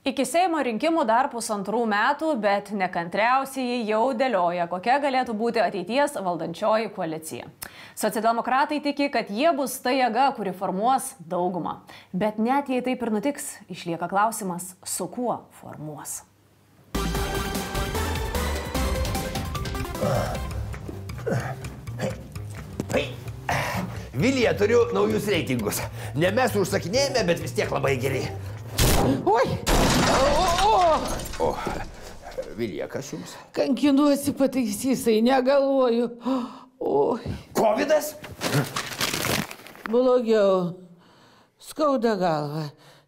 Iki Seimo rinkimų dar 1,5 metų, bet nekantriausiai jau dėlioja, kokia galėtų būti ateities valdančioji koalicija. Socialdemokratai tiki, kad jie bus ta jėga, kuri formuos daugumą. Bet net jei taip ir nutiks, išlieka klausimas, su kuo formuos. Vilija, turiu naujus reitingus. Ne mes užsakinėjame, bet vis tiek labai geri. Oi! O, Vilija, kas jums? Kankinuosi pataisysai, negalvoju. Oi. Kovidas? Blogiau. Skauda galva.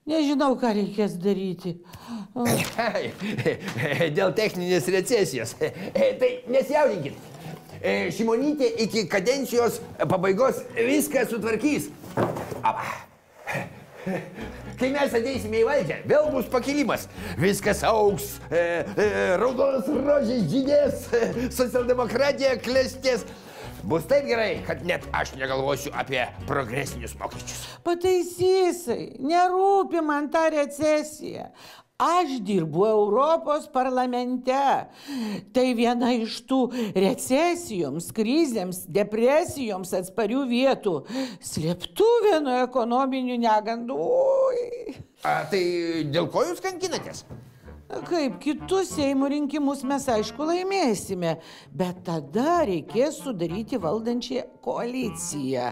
Nežinau, ką reikės daryti. Dėl techninės recesijos. Tai nesijaudinkit. Šimonytė iki kadencijos pabaigos viską sutvarkys. Kai mes ateisime į valdžią, vėl bus pakilimas. Viskas augs, raudonas rožės žydės, socialdemokratija klestės. Bus taip gerai, kad net aš negalvosiu apie progresinius mokesčius. Pataisysai, nerūpi man ta recesija. Aš dirbu Europos parlamente. Tai viena iš tų recesijoms, krizėms, depresijoms atsparių vietų. Slėptuvė nuo ekonominių negandų. Tai dėl ko jūs kankinatės? Kaip kitus Seimo rinkimus mes aišku laimėsime, bet tada reikės sudaryti valdančią koaliciją.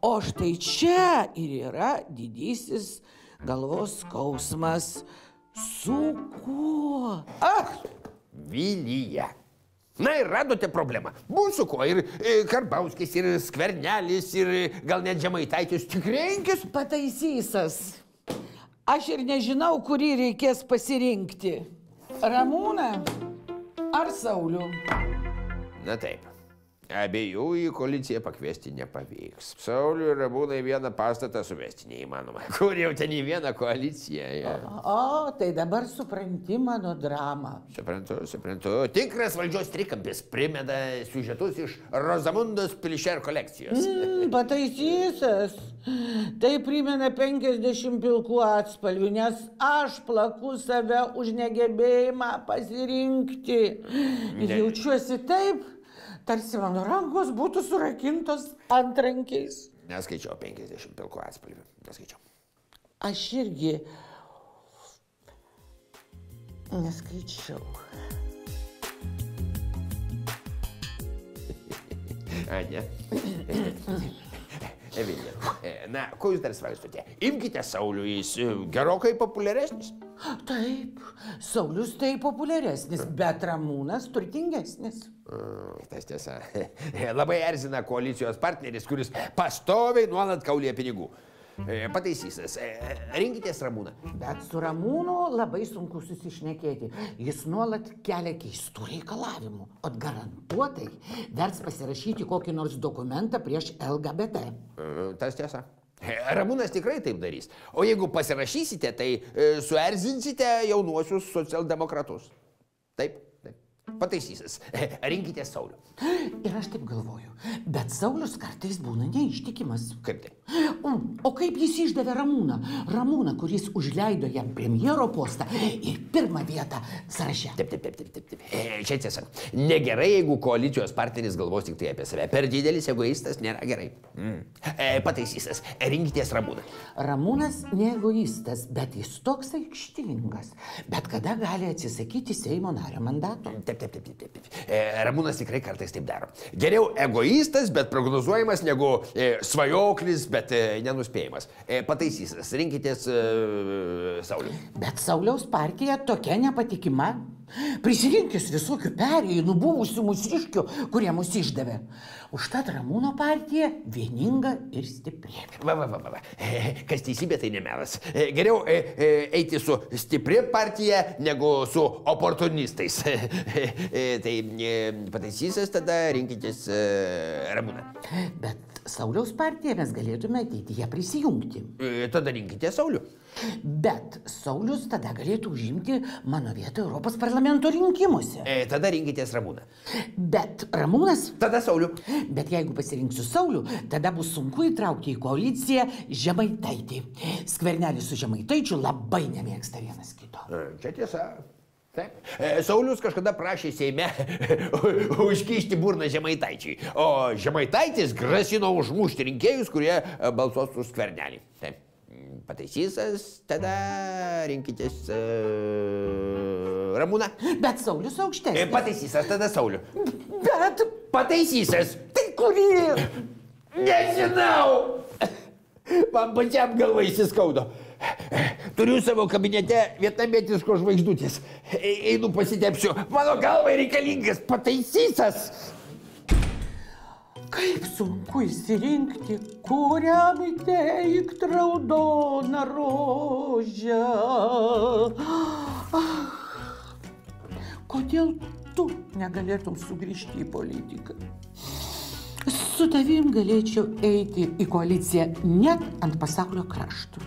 O štai čia ir yra didysis galvos skausmas. Su kuo? Vilija. Na ir radote problemą. Bus su kuo. Ir Karbauskis, ir Skvernelis, ir gal net Žemaitaitis. Tik rinkis. Pataisysas. Aš ir nežinau, kurį reikės pasirinkti. Ramūną ar Saulių? Na taip. Abiejų į koaliciją pakviesti nepavyks. Saulių ir Ramūną į vieną pastatą suvesti neįmanoma. Kur jau ten į vieną koaliciją? Ja. O, tai dabar supranti mano dramą. Suprantu. Tikras valdžios trikampis primeda siužetus iš Rozamundos Pilšer kolekcijos. Pataisysas. Tai primena 50 pilkų atspalvių, nes aš plaku save už negebėjimą pasirinkti. Ir jaučiuosi taip, tarsi mano rankos būtų surakintos antrankiais. Neskaičiau 50 pilkų atspalvių. Neskaičiau. Aš irgi neskaičiau. A, ne? Vilija, na, ko jūs dar svarstote? Imkite Saulių, jis gerokai populiaresnis. Taip, Saulius tai populiaresnis, bet Ramūnas turtingesnis. Tas tiesa. Labai erzina koalicijos partneris, kuris pastoviai nuolat kaulija pinigų. Pataisysas. Rinkitės Ramūną. Bet su Ramūnu labai sunku susišnekėti. Jis nuolat kelia keistų reikalavimų. O garantuotai vers pasirašyti kokį nors dokumentą prieš LGBT. Tas tiesa. Ramūnas tikrai taip darys. O jeigu pasirašysite, tai suerzinsite jaunuosius socialdemokratus. Taip. Pataisysas. Rinkite Saulių. Ir aš taip galvoju. Bet Saulius kartais būna neištikimas. Kaip tai? O kaip jis išdavė Ramūną? Ramūną, kuris užleido jam premjero postą ir pirmą vietą sąraše. Taip. Čia tiesa. Negerai, jeigu koalicijos partneris galvos tik tai apie save. Per didelis egoistas nėra gerai. Pataisysas. Rinkitės Ramūną. Ramūnas ne egoistas, bet jis toks aikštingas. Bet kada gali atsisakyti Seimo nario mandato? Taip. Ramūnas tikrai kartais taip daro. Geriau egoistas, bet prognozuojamas, negu svajoklis, bet nenuspėjimas. Pataisysas. Rinkitės Saulių. Bet Sauliaus partija tokia nepatikima. Prisirinkis visokių perėjų buvusių mūsiškių, kurie mus išdavė. Užtat Ramūno partija vieninga ir stipri. Va. Kas teisybė, tai nemelas. Geriau eiti su stipri partija, negu su oportunistais. Tai pataisysas, tada rinkitės Ramūną. Bet Sauliaus partiją mes galėtume ateityje prisijungti. Tada rinkite Saulių. Bet Saulius tada galėtų užimti mano vietą Europos parlamento rinkimuose. Tada rinkitės Ramūną. Bet Ramūnas... Tada Saulių. Bet jeigu pasirinksiu Saulių, tada bus sunku įtraukti į koaliciją Žemaitaitį. Skvernelis su Žemaitaičiu labai nemėgsta vienas kito. Čia tiesa. Taip. Saulius kažkada prašė Seime užkišti burną Žemaitaičiui, o Žemaitaitis grasino užmušti rinkėjus, kurie balsuos už Skvernelį. Taip. Pataisysas, tada rinkitės Ramūną. Bet Saulius aukštesnis. Pataisysas, tada Saulių. Bet... Pataisysas. Tai kurį? Nežinau. Man pačiam galva įsiskaudo. Turiu savo kabinete vietnamietiško žvaigždutės. Einu pasitepsiu. Mano galvai reikalingas pataisysas. Kaip sunku įsirinkti, kuriam įteikt raudoną rožę. Kodėl tu negalėtum sugrįžti į politiką? Su tavim galėčiau eiti į koaliciją net ant pasaulio kraštų.